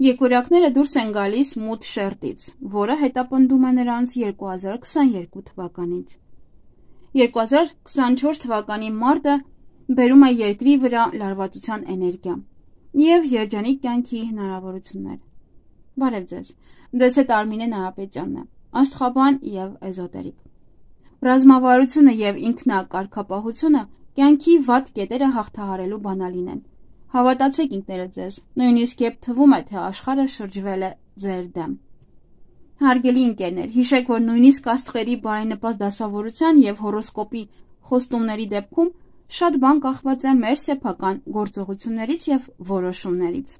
Եկորյակները դուրս են գալիս մութ շերտից, որը հետապնդում է նրանց 2022 թվականից։ 2024 թվականի մարտը բերում է երկրի վրա լարվածության էներգիա և երջանիկ կյանքի հնարավորություններ։ Բարև ձեզ, ձեզ հետ Արմինե Նահապետյանն է, աստղաբան և էզոտերիկ։ Ռազմավարությունը և ինքնակարգապահությունը կյանքի վատ կետերը հաղթահարելու բանալին են։ Հավատացեք ինքներդ ձեզ, նույնիսկ երբ թվում է, թե աշխարհը շրջվել է ձեր դեմ։ Հարգելի ընկերներ, հիշեք, որ նույնիսկ աստղերի բարենպաստ դասավորության և հորոսկոպի խոստումների դեպքում շատ բան կախված է մեր սեփական գործողություններից և որոշումներից։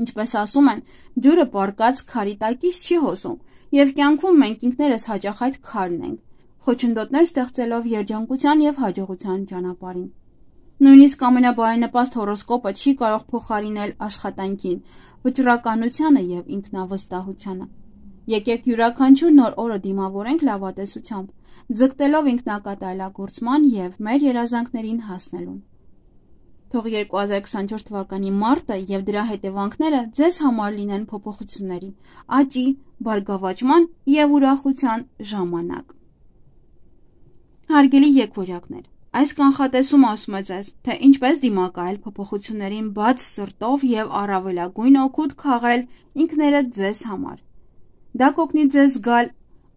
Ինչպես ասում են, ջուրը պառկած քարի տակից չի հոսում, և կյանքում մենք ինքներս հաճախ այդ քարն ենք, խոչընդոտներ ստեղծելով երջանկության և հաջողության ճանապարհին։ Նույնիսկ ամենաբարենպաստ հորոսկոպը չի կարող փոխարինել աշխատանքին, վճռականությանը և ինքնավստահությանը։ Եկեք յուրաքանչյուր նոր օրը դիմավորենք լավատեսությամբ, ձգտելով ինքնակատարելագործման և մեր երազանքներին հասնելուն։ Թող 2024 թվականի մարտը և դրա հետևանքները ձեզ համար լինեն փոփոխությունների, աճի, բարգավաճման և ուրախության ժամանակ։ Հարգելի եկվորյակներ, այս կանխատեսումը ասում է ձեզ, թե ինչպես դիմակայել փոփոխություններին բաց սրտով և առավելագույն օգուտ քաղել ինքներդ ձեզ համար։ Դա կօգնի ձեզ զգալ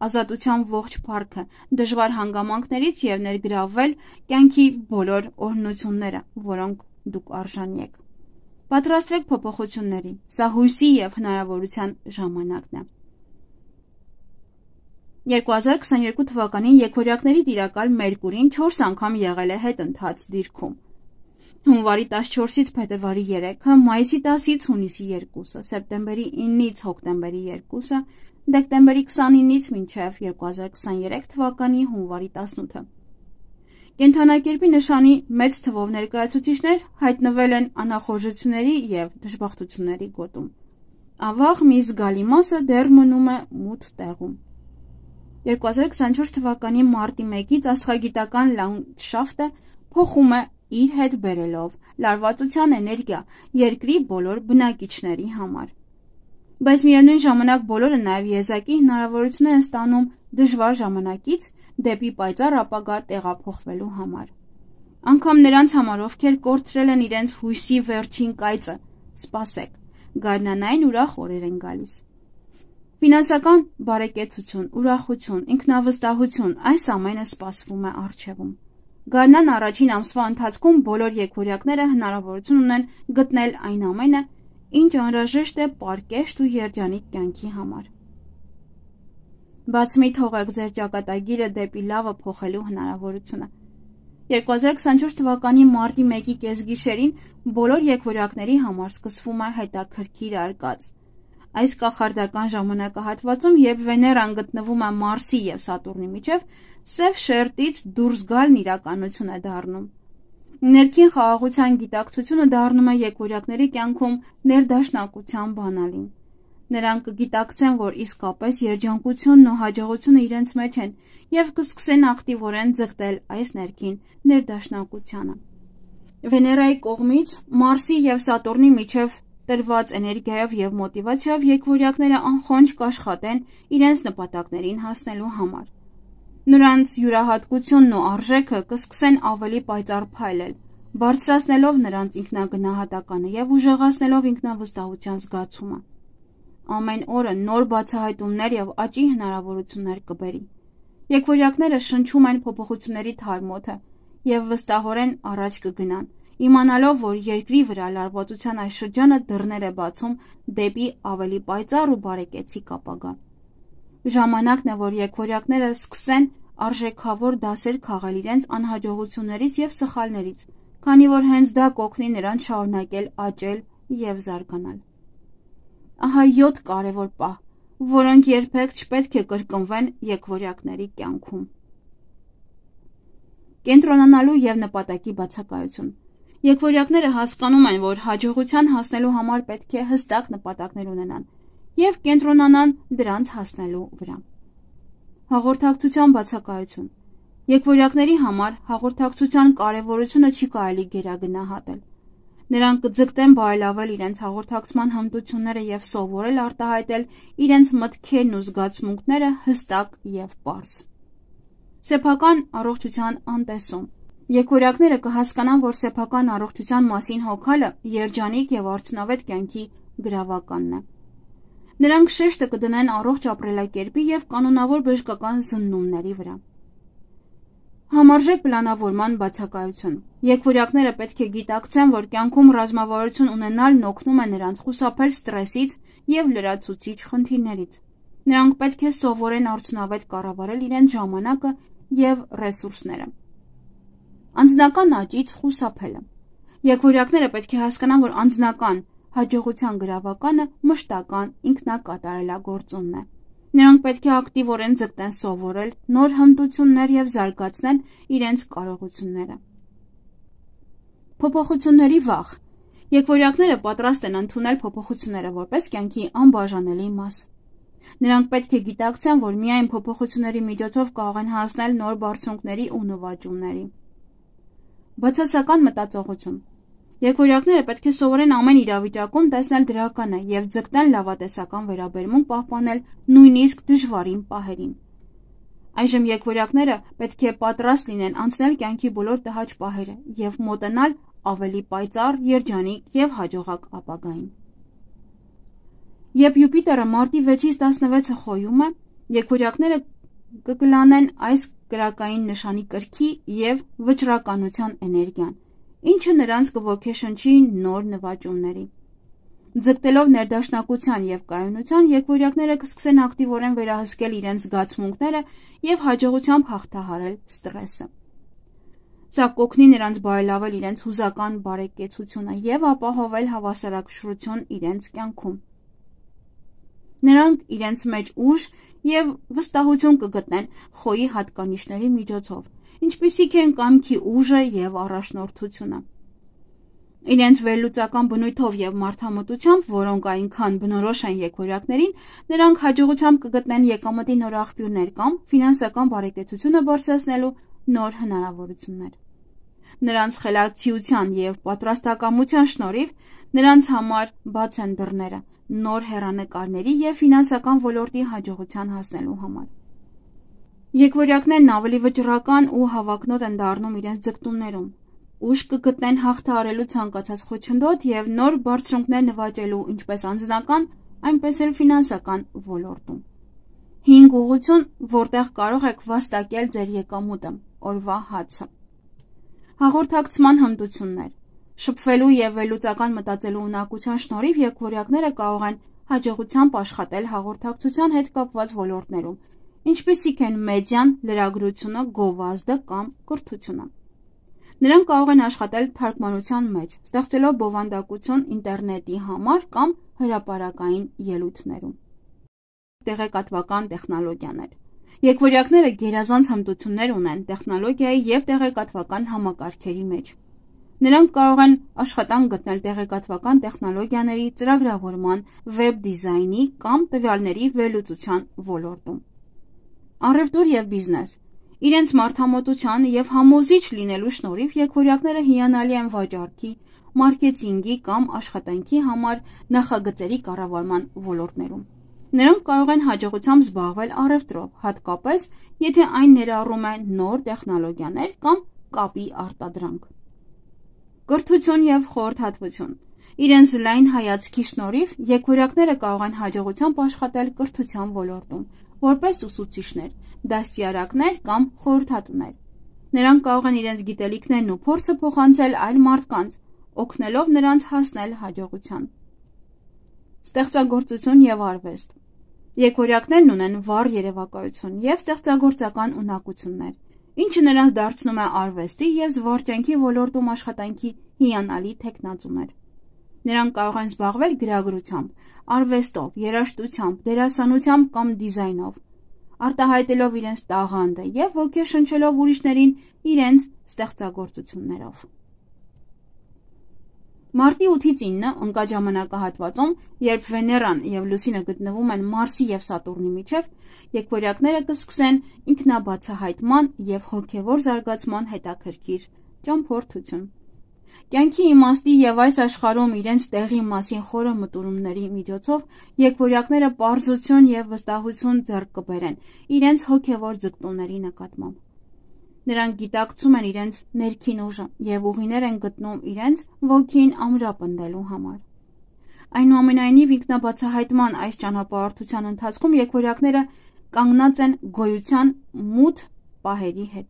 ազատության ողջ փառքը դժվար հանգամանքներից և ներգրավվել կյանքի բոլոր օրհնությունները, որոնք դուք արժանի եք։ Պատրաստվեք փոփոխությունների, սա հույսի և հնարավորության ժամանակն է։ 2022 թվականին եկորյակների տիրակալ Մերկուրին 4 անգամ եղել է հետընթաց դիրքում։ Հունվարի 14-ից փետրվարի 3-ը, մայիսի 10-ից հունիսի 2-ը, սեպտեմբերի 9-ից հոկտեմբերի 2-ը, դեկտեմբերի 29-ից մինչև 2023 թվականի հունվարի 18-ը։ Կենդանակերպի նշանի մեծ թվով ներկայացուցիչներ հայտնվել են անախորժությունների և դժբախտությունների գոտում։ Ավաղ մի զգալի մասը դեռ մնում է մութ տեղում։ 2024 թվականի մարտի 1-ից աստղագիտական լանդշաֆտը փոխում է իր հետ բերելով լարվածության էներգիա երկրի բոլոր բնակիչների համար։ Բայց միևնույն ժամանակ բոլորը նաև եզակի հնարավորություններ են ստանում դժվար ժամանակից դեպի պայծառ ապագա տեղափոխվելու համար։ Անգամ նրանց համար, ովքեր կորցրել են իրենց հույսի վերջին կայծը, սպասեք, գարնանային ուրախ օրեր են գալիս։ Ֆինանսական բարեկեցություն, ուրախություն, ինքնավստահություն, այս ամենը սպասվում է առջևում։ Գարնան առաջին ամսվա ընթացքում բոլոր եկորյակները հնարավորություն ունեն գտնել այն ամենը, ինչ անհրաժեշտ է պարկեշտ ու երջանիկ կյանքի համար։ Բաց մի թողեք ձեր ճակատագիրը դեպի լավը փոխելու հնարավորությունը։ 2024 թվականի մարտի 1-ի կեսգիշերին բոլոր եկորյակների համար սկսվում է հետաքրքիր արկած։ Այս կախարդական ժամանակահատվածում, երբ Վեներան գտնվում է Մարսի և Սատուրնի միջև, սև շերտից դուրս գալն իրականություն է դառնում։ Ներքին խաղաղության գիտակցությունը դառնում է եկորյակների կյանքում ներդաշնակության բանալին։ Նրանք կգիտակցեն, որ իսկապես երջանկությունն ու հաջողությունը իրենց մեջ են և կսկսեն ակտիվորեն ձգտել այս ներքին ներդաշնակությանը։ Վեներայի կողմից Մարսի և Սատուրնի միջև տրված էներգիայով և մոտիվացիայով եկվորյակները անխոնջ կաշխատեն իրենց նպատակներին հասնելու համար։ Նրանց յուրահատկությունն ու արժեքը կսկսեն ավելի պայծառ փայլել, բարձրացնելով նրանց ինքնագնահատականը և ուժեղացնելով ինքնավստահության զգացումը։ Ամեն օրը նոր բացահայտումներ և աճի հնարավորություններ կբերի։ Եկվորյակները շնչում են փոփոխությունների թարմոթը և վստահորեն առաջ կգնան, իմանալով, որ երկրի վրա լարվածության այս շրջանը դռներ է բացում դեպի ավելի պայծառ ու բարեկեցիկ ապագա։ Ժամանակն է, որ եկվորյակները սկսեն արժեքավոր դասեր քաղել իրենց անհաջողություններից և սխալներից, քանի որ հենց դա կօգնի նրանց շարունակել աճել և զարգանալ։ Ահա 7 կարևոր պահ, որոնք երբեք չպետք է կրկնվեն եկվորյակների կյանքում։ Կենտրոնանալու և նպատակի բացակայություն։ Եկվորյակները հասկանում են, որ հաջողության հասնելու համար պետք է հստակ նպատակներ ունենան և կենտրոնանան դրանց հասնելու վրա։ Հաղորդակցության բացակայություն։ Եկվորյակների համար հաղորդակցության կարևորությունը չի կարելի գերագնահատել։ Նրանք կձգտեն բարելավել իրենց հաղորդակցման հմտությունները եւ սովորել արտահայտել իրենց մտքերն ու զգացմունքները հստակ եւ պարզ։ Սեփական առողջության անտեսում։ Եկորյակները կհասկանան, որ սեփական առողջության մասին հոգալը երջանիկ եւ արդյունավետ կյանքի գրավականն է։ Նրանք շեշտը կդնեն առողջ ապրելակերպի եւ կանոնավոր բժշկական զննումների վրա։ Համարժեք պլանավորման բացակայություն։ Եկվորյակները պետք է գիտակցեն, որ կյանքում ռազմավարություն ունենալն օգնում է նրանց խուսափել ստրեսից եւ լրացուցիչ խնդիրներից։ Նրանք պետք է սովորեն արդյունավետ կառավարել իրենց ժամանակը եւ ռեսուրսները։ Անձնական աճից խուսափելը։ Եկվորյակները պետք է հասկանան, որ անձնական հաջողության գրավականը մշտական ինքնակատարելագործումն է։ Նրանք պետք է ակտիվորեն ձգտեն սովորել նոր հմտություններ եւ զարգացնել իրենց կարողությունները։ Փոփոխությունների վախ։ Եկվորյակները պատրաստ են ընդունել փոփոխությունները որպես կյանքի անբաժանելի մաս։ Նրանք պետք է գիտակցեն, որ միայն փոփոխությունների միջոցով կարող են հասնել նոր բարձունքների ու նվաճումների։ Բացասական մտածողություն։ Եկվորյակները պետք է սովորեն ամեն իրավիճակում տեսնել դրականը եւ ձգտեն լավատեսական վերաբերմունք պահպանել նույնիսկ դժվարին պահերին։ Այժմ եկվորյակները պետք է պատրաստ լինեն անցնել կյանքի բոլոր տհաճ պահերը եւ մոտենալ ավելի պայծառ, երջանիկ եւ հաջողակ ապագային։ Երբ Յուպիտերը մարտի 6-ից 16-ը խոյում է, եկվորյակները կկլանեն այս կրակային նշանի կրքի եւ վճռականության էներգիան, ինչը նրանց կոգեշնչի նոր նվաճումների։ Ձգտելով ներդաշնակության եւ կայունության, եկվորյակները կսկսեն ակտիվորեն վերահսկել իրենց զգացմունքները եւ հաջողությամբ հաղթահարել ստրեսը։ Սա կօգնի նրանց բարելավել իրենց հուզական բարեկեցությունը եւ ապահովել հավասարակշռություն իրենց կյանքում։ Նրանք իրենց մեջ ուժ եւ վստահություն կգտնեն խոյի հատկանիշների միջոցով, ինչպիսիք են կամքի ուժը եւ առաջնորդությունը։ Իրենց վերլուծական բնույթով եւ մարդամտությամբ, որոնք այնքան բնորոշ են եկվորյակներին, նրանք հաջողությամբ կգտնեն եկամտի նոր աղբյուրներ կամ ֆինանսական բարեկեցությունը բարձրացնելու նոր հնարավորություններ։ Նրանց խելացիության եւ պատրաստակամության շնորհիվ նրանց համար բաց են դռները նոր հեռանկարների եւ ֆինանսական ոլորտի հաջողության հասնելու համար։ Եկվորյակներն ավելի վճռական ու հավակնոտ են դառնում իրենց ձգտումներում, ուժ կգտնեն հաղթահարելու ցանկացած խոչընդոտ եւ նոր բարձունքներ նվաճելու ինչպես անձնական, այնպես էլ ֆինանսական ոլորտում։ 5 ուղղություն, որտեղ կարող եք վաստակել ձեր եկամուտը, օրվա հացը։ Հաղորդակցման հմտություններ։ Շփվելու եւ վերլուծական մտածելու ունակության շնորհիվ եկվորյակները կարող են հաջողությամբ աշխատել հաղորդակցության հետ կապված ոլորտներում, ինչպիսիք են մեդիան, լրագրությունը, գովազդը կամ կրթությունը։ Նրանք կարող են աշխատել թարգմանության մեջ, ստեղծելով բովանդակություն ինտերնետի համար կամ հրապարակային ելույթներում։ Տեղեկատվական տեխնոլոգիաներ։ Եկվորյակները գերազանց հմտություններ ունեն տեխնոլոգիայի եւ տեղեկատվական համակարգերի մեջ։ Նրանք կարող են աշխատանք գտնել տեղեկատվական տեխնոլոգիաների ծրագրավորման, վեբ դիզայնի կամ տվյալների վերլուծության ոլորտում։ Առևտուր եւ բիզնես։ Իրենց մարդամոտության եւ համոզիչ լինելու շնորհիվ եկվորյակները հիանալի են վաճառքի, մարքեթինգի կամ աշխատանքի համար նախագծերի կառավարման ոլորտներում։ Նրանք կարող են հաջողությամբ զբաղվել առևտրով, հատկապես եթե այն ներառում է նոր տեխնոլոգիաներ կամ կապի արտադրանք։ Կրթություն եւ խորհրդատվություն։ Իրենց լայն հայացքի շնորհիվ եկվորյակները կարող են հաջողությամբ աշխատել կրթության ոլորտում, որպես ուսուցիչներ, դաստիարակներ կամ խորհրդատուներ։ Նրանք կարող են իրենց գիտելիքներն ու փորձը փոխանցել այլ մարդկանց, օգնելով նրանց հասնել հաջողության։ Ստեղծագործություն եւ արվեստ։ Եկվորյակներն ունեն վառ երևակայություն եւ ստեղծագործական ունակություններ, ինչը նրանց դարձնում է արվեստի եւ զվարճանքի ոլորտում աշխատանքի հիանալի թեկնածուներ։ Նրանք կարող են զբաղվել գրագրությամբ, արվեստով, երաժշտությամբ, դերասանությամբ կամ դիզայնով, արտահայտելով իրենց տաղանդը եւ ոգեշնչելով ուրիշներին իրենց ստեղծագործություններով։ Մարտի 8-ից 9 ընկած ժամանակահատվածում, երբ Վեներան եւ Լուսինը գտնվում են Մարսի եւ Սատուրնի միջև, եկվորյակները կսկսեն ինքնաբացահայտման եւ հոգեվոր զարգացման հետաքրքիր ճամփորդություն։ Կյանքի իմաստի եւ այս աշխարհում իրենց տեղի մասին խորը մտորումների միջոցով եկվորյակները պարզություն եւ վստահություն ձեռք կբերեն իրենց հոգեվոր ձգտումների նկատմամբ։ Նրանք գիտակցում են իրենց ներքին ուժը եւ ուղիներ են գտնում իրենց ոգին ամրապնդելու համար։ Այնուամենայնիվ ինքնաբացահայտման այս ճանապարհորդության ընթացքում եկվորյակները կանգնած են գոյության մութ պահերի հետ։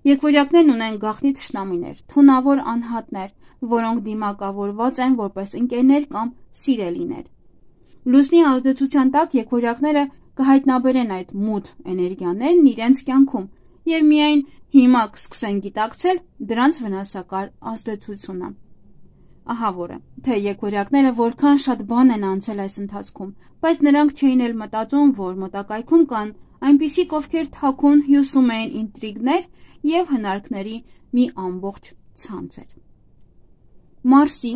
Եկվորյակներն ունեն գաղտնի թշնամիներ, թունավոր անհատներ, որոնք դիմակավորված են որպես ընկերներ կամ սիրելիներ։ Լուսնի ազդեցության տակ եկվորյակները կհայտնաբերեն այդ մութ էներգիաներն իրենց կյանքում եւ միայն հիմա կսկսեն գիտակցել դրանց վնասակար ազդեցությունը։ Ահա որը, թե եկվորյակները որքան շատ բան են անցել այս ընթացքում, բայց նրանք չէին էլ մտածում, որ մոտակայքում կան այնպիսիք, ովքեր թաքուն հյուսում էին ինտրիգներ եւ հնարքների մի ամբողջ ցանցեր։ Մարսի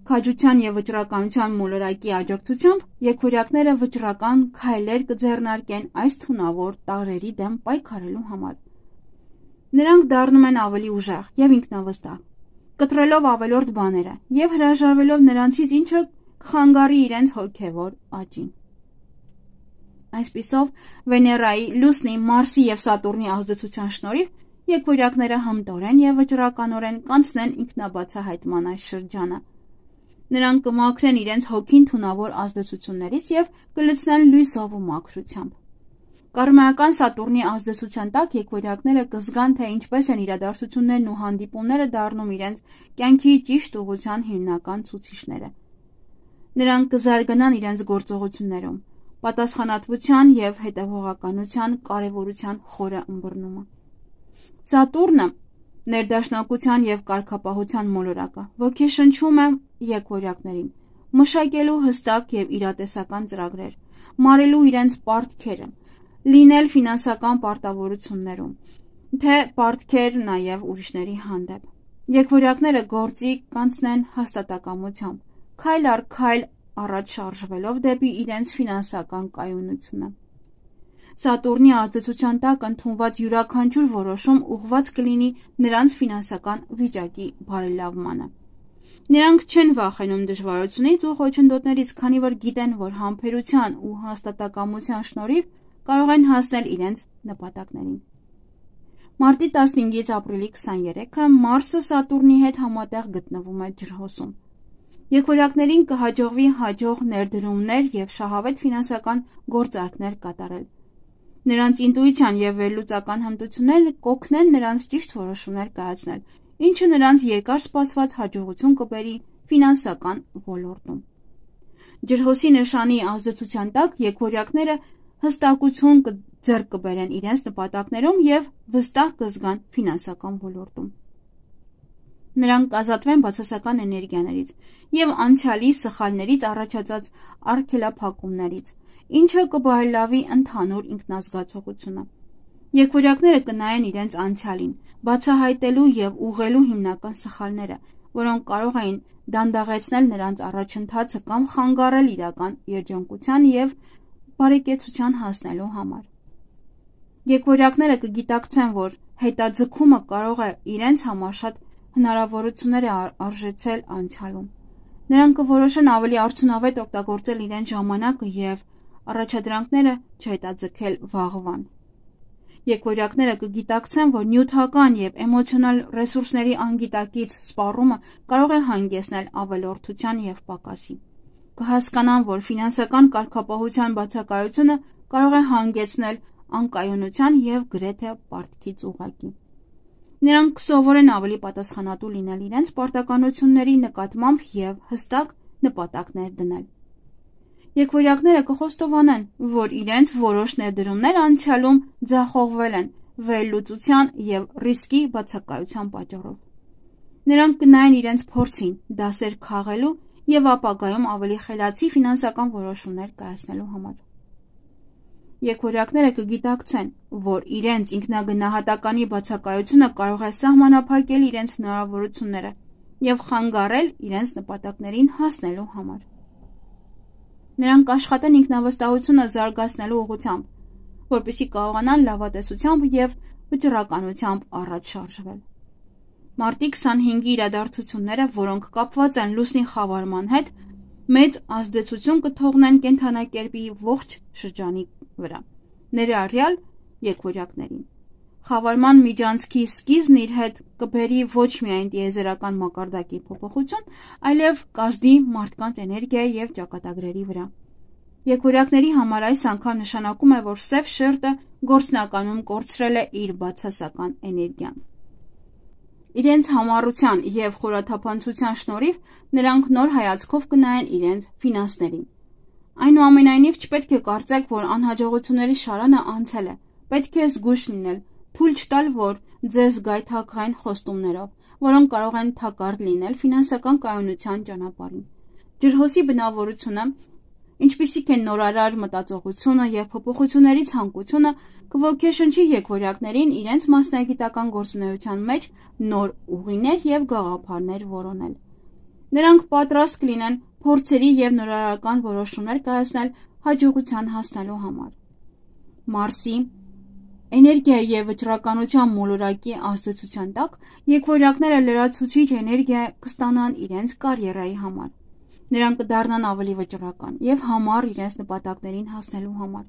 քաջության եւ վճռականության մոլորակի աջակցությամբ եկվորյակները վճռական քայլեր կձեռնարկեն այս թունավոր տարրերի դեմ պայքարելու համար։ Նրանք դառնում են ավելի ուժեղ եւ ինքնավստահ, կտրելով ավելորդ բաները եւ հրաժարվելով նրանցից, ինչը կխանգարի իրենց հոգեվոր աճին։ Այսպիսով, Վեներայի, Լուսնի, Մարսի եւ Սատուրնի ազդեցության շնորհիվ եկվորյակները հմտորեն եւ վճռականորեն կանցնեն ինքնաբացահայտման այս շրջանը։ Նրանք կմաքրեն իրենց հոգին թունավոր ազդեցություններից եւ կլցնեն լույսով ու մաքրությամբ։ Կարմայական Սատուրնի ազդեցության տակ եկվորյակները կզգան, թե ինչպես են իրադարձություններն ու հանդիպումները դառնում իրենց կյանքի ճիշտ ուղղության հիմնական ցուցիչները։ Նրանք կզարգանան իրենց գործողություններում, պատասխանատվության եւ հետևողականության կարեւորության խորը ըմբռնումը։ Սատուրնը ներդաշնակության եւ կարգապահության մոլորակը ոգեշնչում է եկվորյակներին, մշակելու հստակ եւ իրատեսական ծրագրեր, մարելու իրենց պարտքերը, լինել ֆինանսական պարտավորություններում, թե պարտքեր նաեւ ուրիշների հանդեպ։ Եկվորյակները գործի կանցնեն հաստատակամությամբ, քայլ առ քայլ առաջ շարժվելով դեպի իրենց ֆինանսական կայունությունը։ Սատուրնի ազդեցության տակ ընդունված յուրաքանչյուր որոշում ուղղված կլինի նրանց ֆինանսական վիճակի բարելավմանը։ Նրանք չեն վախենում դժվարությունից ու խոչընդոտներից, քանի որ գիտեն, որ համբերության ու հաստատակամության շնորհիվ կարող են հասնել իրենց նպատակներին։ Մարտի 15-ից ապրիլի 23-ը Մարսը Սատուրնի հետ համատեղ գտնվում է ջրհոսում։ Եկվորյակներին կհաջողվի հաջող ներդրումներ եւ շահավետ ֆինանսական գործարքներ կատարել։ Նրանց ինտուիցիան եւ վերլուծական հմտությունները կօգնեն նրանց ճիշտ որոշումներ կայացնել, ինչը նրանց երկար սպասված հաջողություն կբերի ֆինանսական ոլորտում։ Ջրհոսի նշանի ազդեցության տակ եկվորյակները հստակություն ձեռք կբերեն իրենց նպատակներում եւ վստահ կզգան ֆինանսական ոլորտում։ Նրանք կազատվեն բացասական էներգիաներից եւ անցյալի սխալներից առաջացած արգելափակումներից, ինչը կբարելավի ընդհանուր ինքնազգացողությունը։ Եկվորյակները կնայեն իրենց անցյալին, բացահայտելու եւ ուղղելու հիմնական սխալները, որոնք կարող էին դանդաղեցնել նրանց առաջընթացը կամ խանգարել իրական երջանկության եւ բարեկեցության հասնելու համար։ Եկվորյակները կգիտակցեն, որ հետաձգումը կարող է իրենց համար շատ հնարավորություններ արժեցել անցյալում։ Նրանք կորոշեն ավելի արդյունավետ օգտագործել իրենց ժամանակը եւ առաջադրանքները չհետաձգել վաղվան։ Եկվորյակները կգիտակցեն, որ նյութական եւ էմոցիոնալ ռեսուրսների անգիտակից սպառումը կարող է հանգեցնել ավելորդության եւ պակասի։ Կհասկանան, որ ֆինանսական կարգապահության բացակայությունը կարող է հանգեցնել անկայունության եւ գրեթե պարտքից ուղղակի։ Նրանք կսովորեն ավելի պատասխանատու լինել իրենց պարտականությունների նկատմամբ եւ հստակ նպատակներ դնել։ Եկվորյակները կխոստովանեն, որ իրենց որոշ ներդրումներ անցյալում ձախողվել են վերլուծության եւ ռիսկի բացակայության պատճառով։ Նրանք կնայեն իրենց փորձին, դասեր քաղելու եւ ապագայում ավելի խելացի ֆինանսական որոշումներ կայացնելու համար։ Եկվորյակները կգիտակցեն, որ իրենց ինքնագնահատականի բացակայությունը կարող է սահմանափակել իրենց հնարավորությունները եւ խանգարել իրենց նպատակներին հասնելու համար։ Նրանք կաշխատեն ինքնավստահությունը զարգացնելու ուղղությամբ, որպեսզի կարողանան լավատեսությամբ եւ վճռականությամբ առաջ շարժվել։ Մարտի 25-ի իրադարձությունները, որոնք կապված են լուսնի խավարման հետ, մեծ ազդեցություն կթողնեն կենդանակերպի ողջ շրջանի վրա, ներառյալ եկվորյակներին։ Խավարման միջանցքի սկիզբն իր հետ կբերի ոչ միայն տիեզերական մակարդակի փոփոխություն, այլև կազդի մարդկանց էներգիայի և ճակատագրերի վրա։ Եկվորյակների համար այս անգամ նշանակում է, որ սև շերտը գործնականում կորցրել է իր բացասական էներգիան։ Իրենց համառության և խորաթափանցության շնորհիվ նրանք նոր հայացքով կնայեն իրենց ֆինանսներին։ Այնուամենայնիվ չպետք է կարծեք, որ անհաջողությունների շարանը անցել է։ Պետք է զգույշ լինել, թույլ չտալ, որ ձեզ գայթակղեն խոստումներով, որոնք կարող են թակարդ լինել ֆինանսական կայունության ճանապարհին։ Ջրհոսի բնավորությունը, ինչպիսիք են նորարար մտածողությունը և փոփոխությունների ցանկությունը, կոգեշնչի եկվորյակներին իրենց մասնագիտական գործունեության մեջ նոր ուղիներ և գաղափարներ որոնել։ Նրանք պատրաստ կլինեն փորձերի և նորարարական որոշումներ կայացնել հաջողության հասնելու համար։ Մարսի, էներգիայի և վճռականության մոլորակի ազդեցության տակ եկվորյակները լրացուցիչ էներգիա կստանան իրենց կարիերայի համար։ Նրանք կդառնան ավելի վճռական և համառ իրենց նպատակներին հասնելու համար։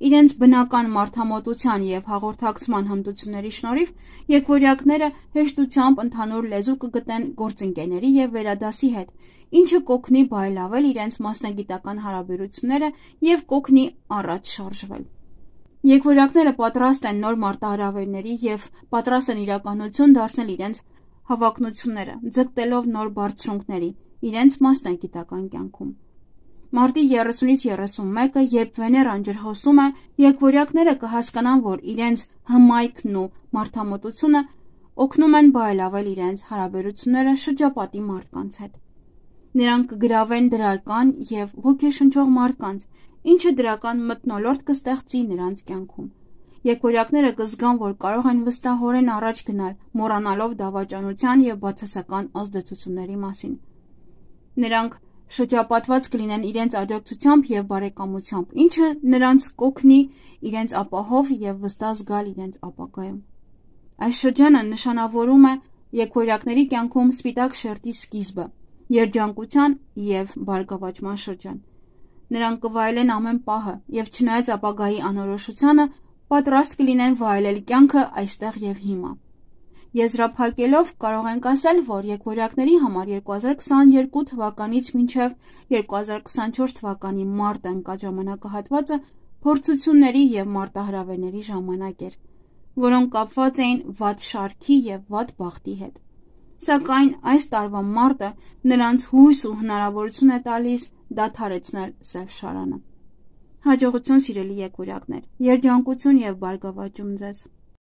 Իրենց բնական մարդամոտության և հաղորդակցման հմտությունների շնորհիվ եկվորյակները հեշտությամբ ընդհանուր լեզու կգտնեն գործընկերների և վերադասի հետ, ինչը կօգնի բարելավել իրենց մասնագիտական հարաբերությունները և կօգնի առաջ շարժվել։ Եկվորյակները պատրաստ են նոր մարտահրավերների և պատրաստ են իրականություն դարձնել իրենց հավակնությունները, ձգտելով նոր բարձրունքների իրենց մասնագիտական կյանքում։ Մարտի 30-ից 31-ը, երբ Վեներան ջրհոսում է, եկվորյակները կհասկանան, որ իրենց հմայքն ու մարդամոտությունը օգնում են բարելավել իրենց հարաբերությունները շրջապատի մարդկանց հետ։ Նրանք կգրավեն դրական և ոգեշնչող մարդկանց, ինչը դրական մթնոլորտ կստեղծի նրանց կյանքում։ Եկվորյակները կզգան, որ կարող են վստահորեն առաջ գնալ, մոռանալով դավաճանության և բացասական ազդեցությունների մասին։ Նրանք շրջապատված կլինեն իրենց աջակցությամբ և բարեկամությամբ, ինչը նրանց կօգնի իրենց ապահով և վստահ զգալ իրենց ապագայում։ Այս շրջանը նշանավորում է եկվորյակների կյանքում սպիտակ շերտի սկիզբը, երջանկության և բարգավաճման շրջան։ Նրանք կվայելեն ամեն պահը և չնայած ապագայի անորոշությանը, պատրաստ կլինեն վայելել կյանքը այստեղ և հիմա։ Եզրափակելով կարող ենք ասել, որ եկվորյակների համար 2022 թվականից մինչև 2024 թվականի մարտ ընկած ժամանակահատվածը փորձությունների և մարտահրավերների ժամանակ էր, որոնք կապված էին վատ շարքի և վատ բախտի հետ։ Սակայն այս տարվա մարտը նրանց հույս ու հնարավորություն է տալիս դադարեցնել սև շարանը։ Հաջողություն սիրելի եկվորյակներ, երջանկություն և բարգավաճում ձեզ։